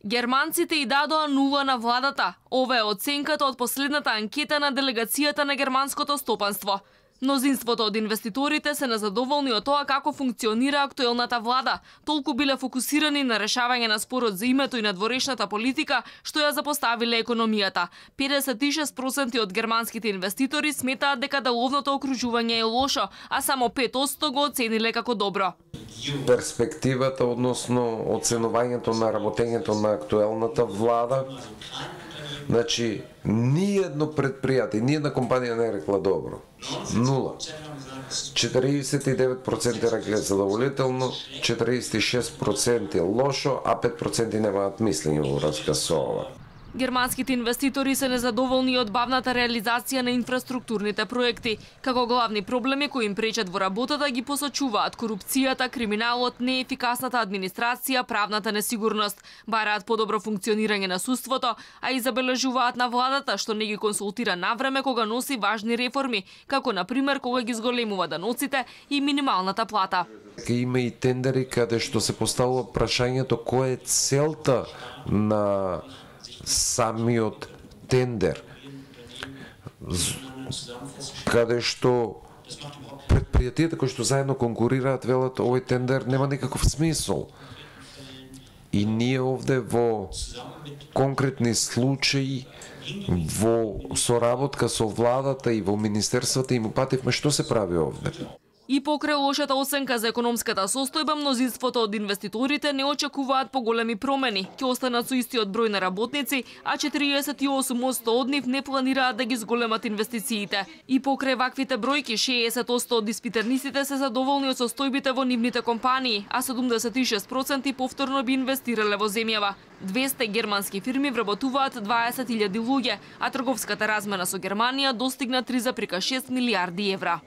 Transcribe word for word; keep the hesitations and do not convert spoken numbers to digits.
Германците и дадоа нула на владата. Ова е оценката од последната анкета на делегацијата на германското стопанство. Мнозинството од инвеститорите се незадоволни од тоа како функционира актуелната влада. Толку биле фокусирани на решавање на спорот за името и на дворешната политика, што ја запоставиле економијата. педесет и шест проценти од германските инвеститори сметаат дека деловното окружување е лошо, а само пет проценти го оцениле како добро. Перспективата односно оценувањето на работењето на актуелната влада, значи, ниедно предпријатие, ниедна компанија не е рекла добро. Нула. четириесет и девет проценти рекле задоволително, четириесет и шест проценти лошо, а пет проценти немаат мислење во врска со ова. Германските инвеститори се незадоволни од бавната реализација на инфраструктурните проекти. Како главни проблеми кои им пречат во работата ги посочуваат корупцијата, криминалот, неефикасната администрација, правната несигурност. Бараат подобро функционирање на судството, а и забележуваат на владата што не ги консултира навреме кога носи важни реформи, како на пример кога ги зголемува даноците и минималната плата. Има и тендери каде што се поставува прашањето која е целта на самиот тендер, каде што предпријатијата кои што заедно конкурираат велат овој тендер нема никаков смисол. И ние овде во конкретни случаи, во соработка со владата и во министерствата им упативме што се прави овде. И покрај лошата оценка за економската состојба, мнозинството од инвеститорите не очекуваат поголеми промени. Ќе останат со истиот број на работници, а четириесет и осум проценти од нив не планираат да ги зголемат инвестициите. И покрај ваквите бројки, шеесет проценти од испитаниците се задоволни од состојбите во нивните компании, а седумдесет и шест проценти повторно би инвестирале во земјава. двесте германски фирми вработуваат дваесет илјади луѓе, а трговската размена со Германија достигна три зарез шест милијарди евра.